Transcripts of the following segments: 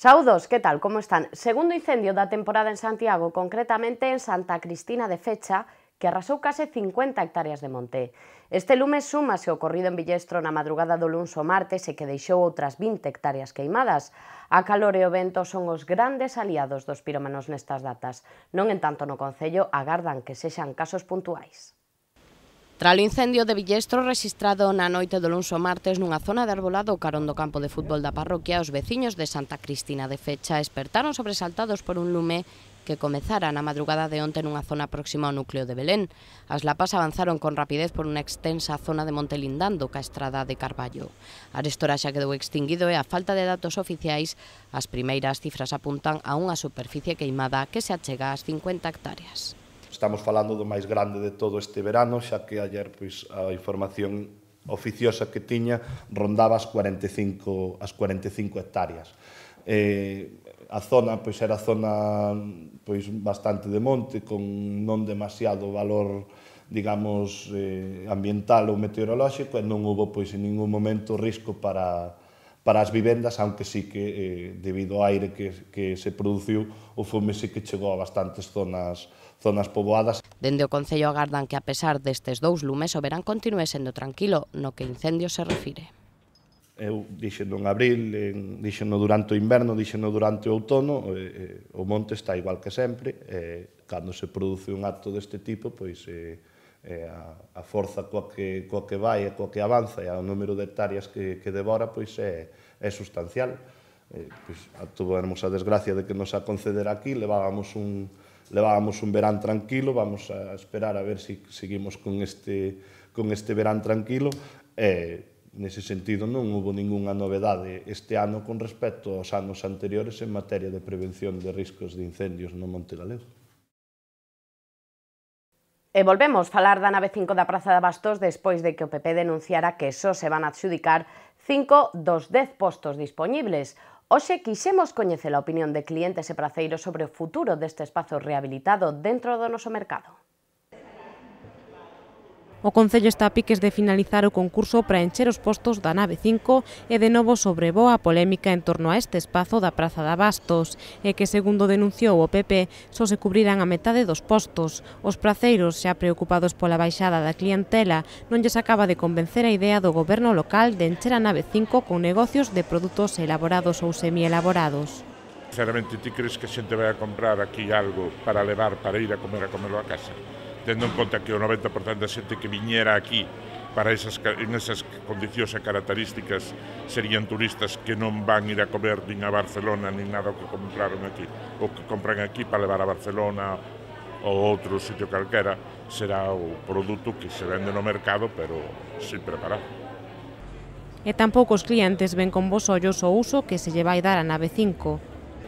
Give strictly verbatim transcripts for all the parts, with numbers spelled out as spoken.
Saúdos, que tal, como están? Segundo incendio da temporada en Santiago, concretamente en Santa Cristina de Fecha, que arrasou case cincuenta hectáreas de monte. Este lume súmase o ocorrido en Villestro na madrugada do luns ao martes e que deixou outras vinte hectáreas queimadas. A calor e o vento son os grandes aliados dos pirómanos nestas datas. Non entanto no Concello agardan que sexan casos puntuais. Tras o incendio de Villestro rexistrado na noite do luns ao martes nunha zona de arbolado carón do campo de fútbol da parroquia, os veciños de Santa Cristina de Fecha espertaron sobresaltados por un lume que comezara na madrugada de onte nunha zona próxima ao núcleo de Belén. As lapas avanzaron con rapidez por unha extensa zona de monte lindando ca estrada de Carballo. Arestora xa quedou extinguido e a falta de datos oficiais, as primeiras cifras apuntan a unha superficie queimada que se achega ás cincuenta hectáreas. Estamos falando do máis grande de todo este verano, xa que ayer pois, a información oficiosa que tiña rondaba as cuarenta e cinco, as cuarenta e cinco hectáreas. Eh, a zona pois, era zona pois, bastante de monte, con non demasiado valor digamos, eh, ambiental ou meteorolóxico, e non houve pois, en ningún momento risco para, para as vivendas, aunque sí que, eh, debido ao aire que, que se produciu, o fume sí que chegou a bastantes zonas zonas poboadas. Dende o Concello agardan que, a pesar destes dous lumes, o verán continúe sendo tranquilo no que incendios se refire. Eu dixeno en abril, en, dixeno durante o inverno, dixeno durante o outono, eh, eh, o monte está igual que sempre, eh, cando se produce un acto deste tipo, pois eh, eh, a, a forza coa que, coa que vai e coa que avanza e o número de hectáreas que, que devora, pois é, é sustancial. Eh, pois, tuvemos a desgracia de que nos a conceder aquí, levábamos un levábamos un verán tranquilo, vamos a esperar a ver se si seguimos con este, con este verán tranquilo. E, nese sentido, non houve ningunha novedade este ano con respecto aos anos anteriores en materia de prevención de riscos de incendios no Monte Galego. E volvemos falar da nave cinco da Praza de Abastos despois de que o P P denunciara que só se van a adxudicar cinco dos dez postos dispoñibles. Hoxe quixemos coñecer a opinión de clientes e praceiros sobre o futuro deste espazo rehabilitado dentro do noso mercado. O Concello está a piques de finalizar o concurso para encher os postos da nave cinco e de novo sobrevoa a polémica en torno a este espazo da Praza de Abastos e que, segundo denunciou o P P, só se cubrirán a metade dos postos. Os praceiros, xa preocupados pola baixada da clientela, non lles acaba de convencer a idea do goberno local de encher a nave cinco con negocios de produtos elaborados ou semielaborados. Sinceramente, ti crees que a xente vai a comprar aquí algo para levar, para ir a comer a comelo a casa? Tendo en conta que o noventa por cento da xente que viñera aquí para esas, en esas condicións e características serían turistas que non van ir a comer nin a Barcelona nin nada o que compraron aquí, o que compran aquí para levar a Barcelona ou outro sitio calquera, será o produto que se vende no mercado pero sin preparar. E tampouco os clientes ven con bons ollos o uso que se lle vai dar a nave cinco.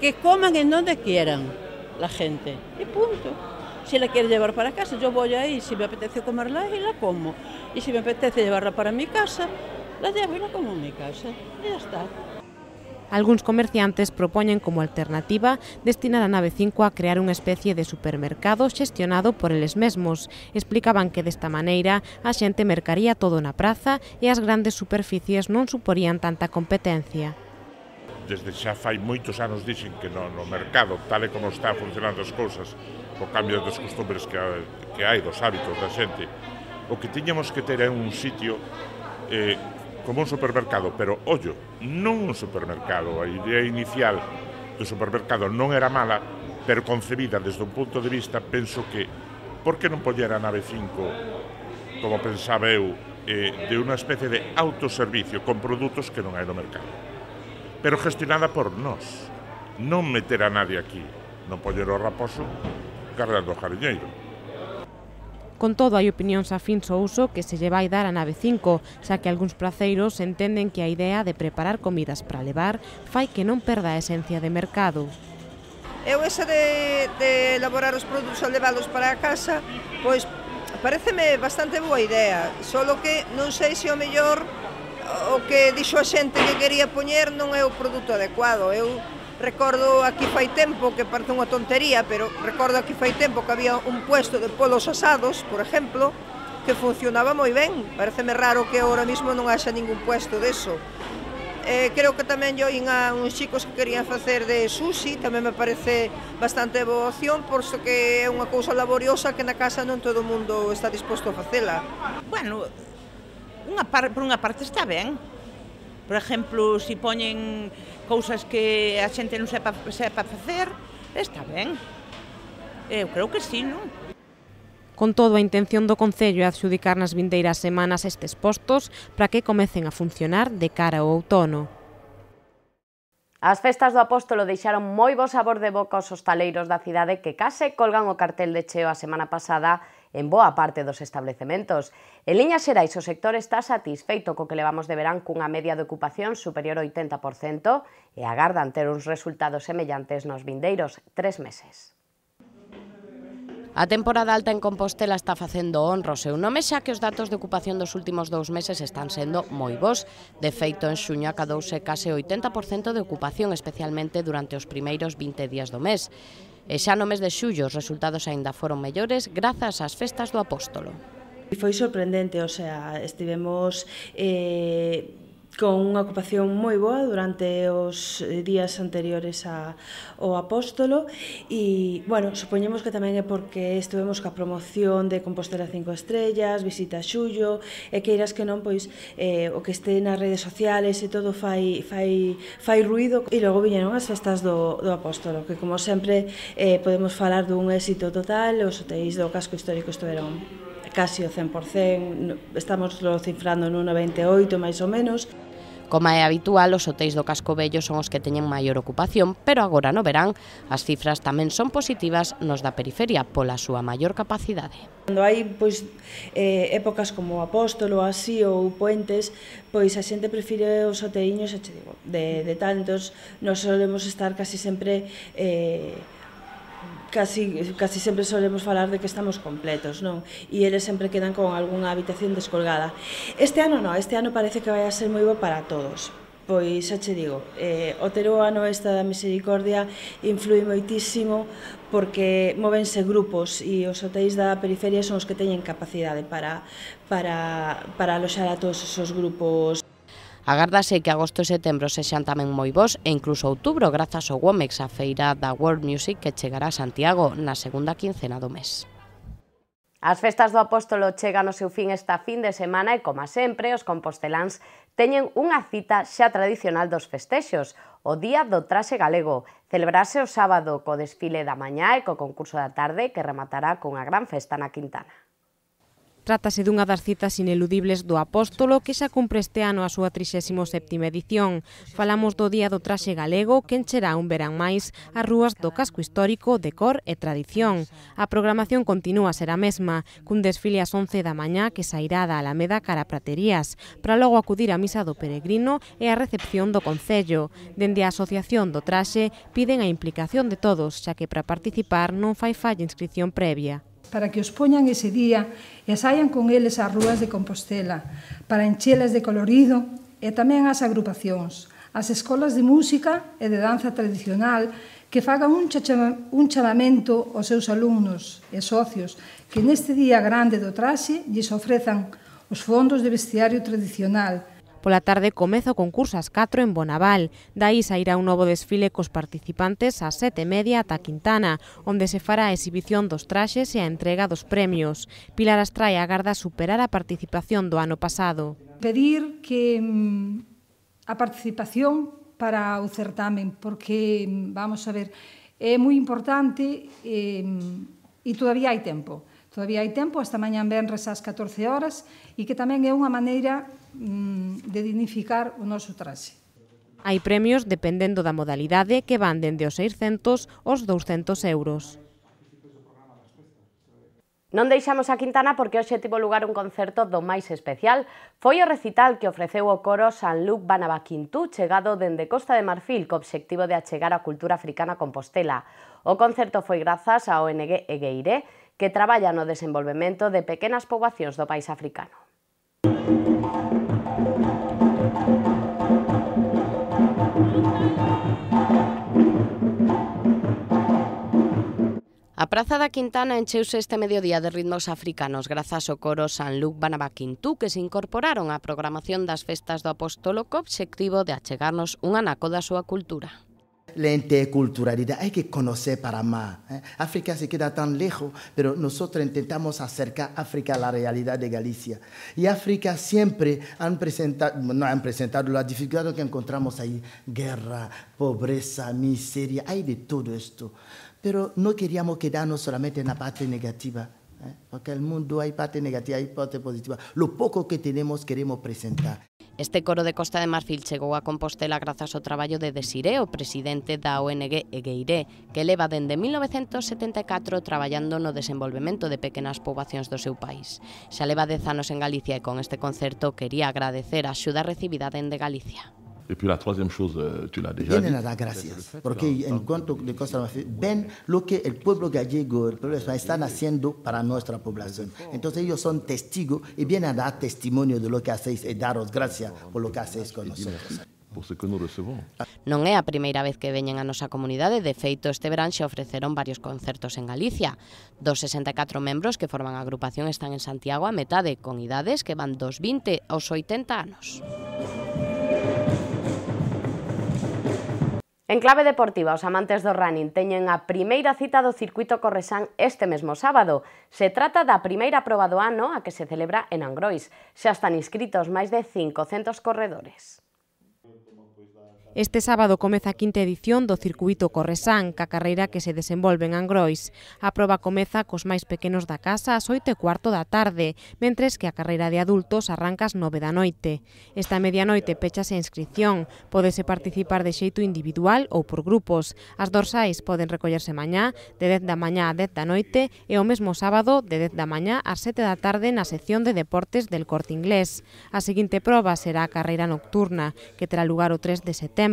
Que coman en donde quieran la gente, e punto. Si la quiere llevar para casa, yo voy ahí, si me apetece comerla y la como. Y si me apetece llevarla para mi casa, la llevo y la como en mi casa. Y ya está. Algúns comerciantes propoñen como alternativa destinar a nave cinco a crear unha especie de supermercado xestionado por eles mesmos. Explicaban que desta maneira a xente mercaría todo na praza e as grandes superficies non suporían tanta competencia. Desde xa fai moitos anos dixen que no, no mercado, tal e como está funcionando as cousas, o cambio dos costumbres que, que hai, dos hábitos da xente, o que tiñamos que ter é un sitio eh, como un supermercado, pero, ollo, non un supermercado. A idea inicial do supermercado non era mala, pero concebida desde un punto de vista, penso que, por que non poñer a nave cinco, como pensaba eu, eh, de unha especie de autoservicio con produtos que non hai no mercado, pero gestionada por nós, non meter a nadie aquí, non poñer o raposo cargando o jariñeiro. Con todo, hai opinións afíns ao uso que se lle vai dar a nave cinco, xa que algúns praceiros entenden que a idea de preparar comidas para levar fai que non perda a esencia de mercado. Eu esa de, de elaborar os produtos a levalos para a casa, pois pareceme bastante boa idea, solo que non sei se o mellor o que dixo a xente que quería poñer non é o produto adecuado. Eu recordo aquí fai tempo, que parece unha tontería, pero recordo aquí fai tempo que había un puesto de polos asados, por exemplo, que funcionaba moi ben. Pareceme raro que ahora mismo non haxa ningún puesto deso. Eh, creo que tamén yo inha uns chicos que querían facer de sushi, tamén me parece bastante boa opción, posto que é unha cousa laboriosa que na casa non todo o mundo está disposto a facela. Bueno, unha par, por unha parte está ben. Por exemplo, se si poñen cousas que a xente non sepa, sepa facer, está ben. Eu creo que sí, non? Con todo, a intención do Concello é adxudicar nas vindeiras semanas estes postos para que comecen a funcionar de cara ao outono. As festas do Apóstolo deixaron moi bo sabor de boca aos hostaleiros da cidade que case colgan o cartel de cheo a semana pasada en boa parte dos establecementos. En liñas xerais, o sector está satisfeito co que levamos de verán cunha media de ocupación superior ao oitenta por cento e agardan ter uns resultados semellantes nos vindeiros tres meses. A temporada alta en Compostela está facendo honra ao seu nome, xa que os datos de ocupación dos últimos dous meses están sendo moi bons. De feito, en xuño acadouse case o oitenta por cento de ocupación, especialmente durante os primeiros vinte días do mes. E xa no mes de xullo os resultados aínda foron mellores grazas ás festas do Apóstolo. Foi sorprendente, o sea, estivemos eh, con unha ocupación moi boa durante os días anteriores a, ao Apóstolo e, bueno, supoñemos que tamén é porque estivemos ca promoción de Compostela cinco estrellas, visita a xullo, e que irás que non, pois, eh, o que este nas redes sociales e todo fai, fai, fai ruido, e logo viñeron as festas do, do Apóstolo, que como sempre eh, podemos falar dun éxito total. Os hotéis do casco histórico estiveron casi o cen por cento, estamos lo cifrando nun noventa e oito máis ou menos. Como é habitual, os hotéis do casco vello son os que teñen maior ocupación, pero agora no verán as cifras tamén son positivas nos da periferia pola súa maior capacidade. Cando hai pois, eh, épocas como o Apóstolo así ou puentes, pois a xente prefire os hoteiños, che digo, de, de tal, entón nos solemos estar casi sempre eh, Casi, casi sempre solemos falar de que estamos completos, non? E eles sempre quedan con algunha habitación descolgada. Este ano non, este ano parece que vai a ser moi bo para todos. Pois, xa che digo, eh, o ter o ano esta da misericordia influi moitísimo porque móvense grupos e os hotéis da periferia son os que teñen capacidade para, para, para aloxar a todos esos grupos. Agárdase que agosto e setembro sexan tamén moi bons e incluso outubro grazas ao Womex, a feira da World Music que chegará a Santiago na segunda quincena do mes. As festas do Apóstolo chegan ao seu fin esta fin de semana e, como sempre, os composteláns teñen unha cita xa tradicional dos festexos, o Día do Traxe Galego. Celebrarse o sábado co desfile da mañá e co concurso da tarde que rematará cunha gran festa na Quintana. Trátase dunha das citas ineludibles do Apóstolo que xa cumpre este ano a súa trixésima séptima edición. Falamos do Día do Traxe Galego que encherá un verán máis as rúas do casco histórico de cor e tradición. A programación continúa a ser a mesma, cun desfile ás once da mañá que sairá da Alameda cara a Praterías, para logo acudir á misa do peregrino e a recepción do Concello. Dende a Asociación do Traxe piden a implicación de todos, xa que para participar non fai falla inscripción previa. Para que os poñan ese día e saian con eles ás rúas de Compostela, para enchelas de colorido e tamén as agrupacións, as escolas de música e de danza tradicional que fagan un, un chamamento aos seus alumnos e socios que neste día grande do traxe lles ofrezan os fondos de vestiario tradicional. Pola tarde comeza o concurso ás catro en Bonaval. Daí sairá un novo desfile cos participantes ás sete e media ata Quintana, onde se fará a exhibición dos traxes e a entrega dos premios. Pilar Astraia agarda superar a participación do ano pasado. Pedir que a participación para o certamen, porque, vamos a ver, é moi importante e, e todavía hai tempo. Todavía hai tempo, hasta mañán venres ás catorce horas, e que tamén é unha maneira de dignificar o noso traxe. Hai premios dependendo da modalidade que van dende os seiscentos aos douscentos euros. Non deixamos a Quintana porque hoxe tivo lugar un concerto do máis especial. Foi o recital que ofreceu o coro San Luc Banabaquintú, chegado dende Costa de Marfil, co obxectivo de achegar a cultura africana a Compostela. O concerto foi grazas á O N G Egueire, que traballa no desenvolvemento de pequenas poboacións do país africano. A Praza da Quintana encheuse este mediodía de ritmos africanos grazas ao coro San Luc Banabaquintú que se incorporaron á programación das festas do Apóstolo co obxectivo de achegarnos un anaco da súa cultura. La interculturalidad hay que conocer para más. ¿eh? África se queda tan lejos, pero nosotros intentamos acercar África a la realidad de Galicia. Y África siempre han presentado, no han presentado las dificultades que encontramos ahí, guerra, pobreza, miseria, hay de todo esto. Pero no queríamos quedarnos solamente en la parte negativa, ¿eh? porque en el mundo hay parte negativa, hay parte positiva. Lo poco que tenemos queremos presentar. Este coro de Costa de Marfil chegou a Compostela grazas ao traballo de Desiré, o presidente da O N G Egueiré, que leva dende mil novecentos setenta e catro traballando no desenvolvemento de pequenas poboacións do seu país. Xa leva dez anos en Galicia e con este concerto quería agradecer a axuda recibida dende Galicia. Et puis la troisième chose, tu l'as déjà Vienen dit. a dar gracias, porque en cuanto de Costa de Marfil, ven lo que el pueblo gallego, el pueblo español están haciendo para nuestra población. Entonces ellos son testigos y vienen a dar testimonio de lo que hacéis y daros gracias por lo que hacéis con nosotros. Por ce que nous recevons. Non é a primeira vez que veñen a nosa comunidade, de feito este verán xa ofreceron varios concertos en Galicia. Dos sesenta e catro membros que forman a agrupación están en Santiago a metade, con idades que van dos vinte aos oitenta anos. En clave deportiva, os amantes do running teñen a primeira cita do circuito Corresán este mesmo sábado. Se trata da primeira proba do ano a que se celebra en Angrois. Xa están inscritos máis de cincocentos corredores. Este sábado comeza a quinta edición do Circuito Corresán, ca carreira que se desenvolve en Angrois. A proba comeza cos máis pequenos da casa ás oito e cuarto da tarde, mentres que a carreira de adultos arranca ás nove da noite. Esta medianoite pechase a inscripción, pódese participar de xeito individual ou por grupos. As dorsais poden recollerse mañá, de dez da mañá a dez da noite, e o mesmo sábado, de dez da mañá ás sete da tarde na sección de deportes del Corte Inglés. A seguinte proba será a carreira nocturna, que terá lugar o tres de setembro,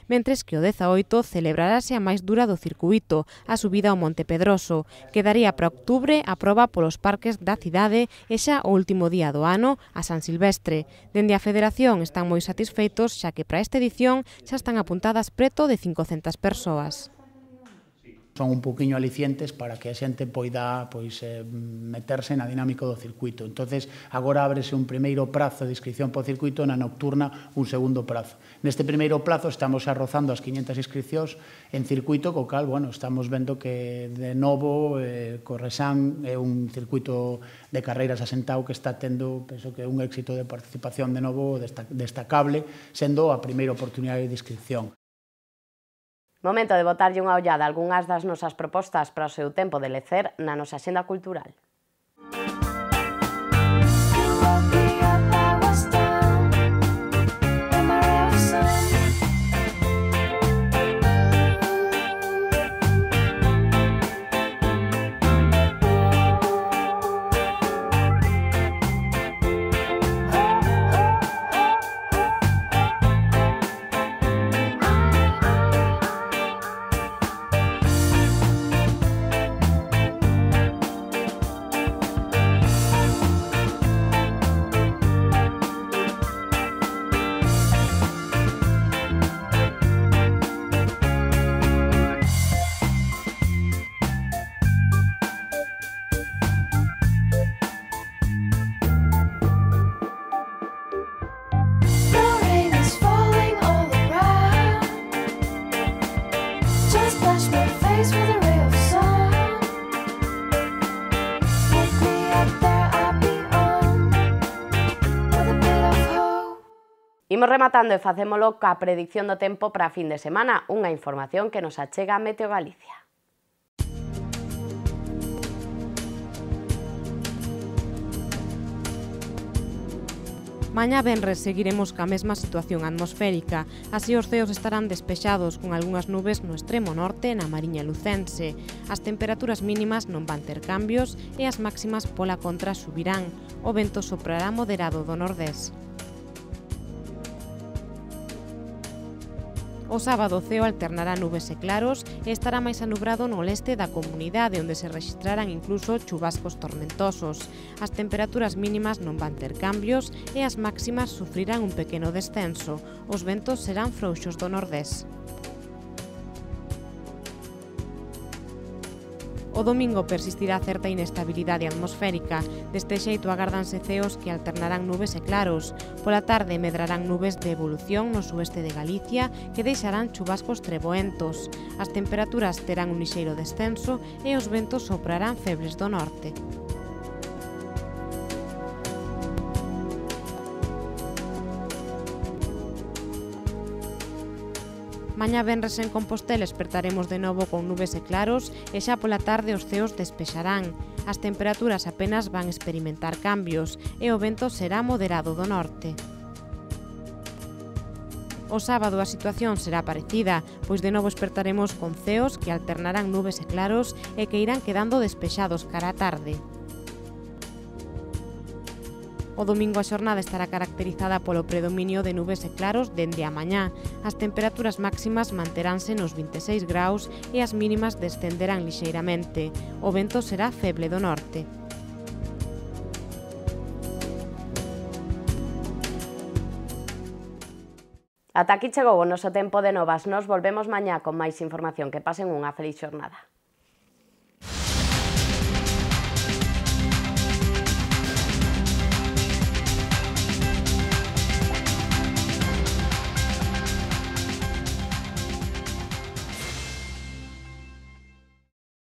mentres que o dezaoito celebrarase a máis dura do circuito, a subida ao Monte Pedroso. Quedaría para outubro a proba polos parques da cidade e xa o último día do ano, a San Silvestre. Dende a Federación están moi satisfeitos xa que para esta edición xa están apuntadas preto de cincocentas persoas. Son un poquinho alicientes para que a xente poida pois, eh, meterse na dinámica do circuito. Entonces, agora ábrese un primeiro prazo de inscripción por circuito, na nocturna un segundo prazo. Neste primeiro plazo estamos arrozando as quinhentas inscripcións en circuito, co cal, bueno, estamos vendo que de novo eh, Corresán é un circuito de carreiras asentado que está tendo, penso que un éxito de participación de novo destacable, sendo a primeira oportunidade de inscripción. Momento de botarlle unha ollada a algunhas das nosas propostas para o seu tempo de lecer na nosa axenda cultural. Imos rematando e facémolo ca predicción do tempo para a fin de semana, unha información que nos achega Meteo Galicia. Mañá venres seguiremos ca mesma situación atmosférica, así os ceos estarán despexados con algunhas nubes no extremo norte na Mariña Lucense. As temperaturas mínimas non van ter cambios e as máximas pola contra subirán. O vento soprará moderado do nordés. O sábado o ceo alternará nubes e claros e estará máis anubrado no leste da comunidade, onde se rexistrarán incluso chubascos tormentosos. As temperaturas mínimas non van ter cambios e as máximas sufrirán un pequeno descenso. Os ventos serán frouxos do nordés. O O domingo persistirá certa inestabilidade atmosférica. Deste xeito agárdanse ceos que alternarán nubes e claros. Pola tarde medrarán nubes de evolución no sueste de Galicia que deixarán chubascos treboentos. As temperaturas terán un lixeiro descenso e os ventos soprarán febles do norte. Mañá venres en Compostela espertaremos de novo con nubes e claros e xa pola tarde os ceos despexarán. As temperaturas apenas van experimentar cambios e o vento será moderado do norte. O sábado a situación será parecida, pois de novo espertaremos con ceos que alternarán nubes e claros e que irán quedando despexados cara á tarde. O domingo a xornada estará caracterizada polo predominio de nubes e claros dende a mañá. As temperaturas máximas manteránse nos vinte e seis graus e as mínimas descenderán lixeiramente. O vento será feble do norte. Ata aquí chegou o noso tempo de novas. Nos volvemos mañá con máis información. Que pasen unha feliz xornada.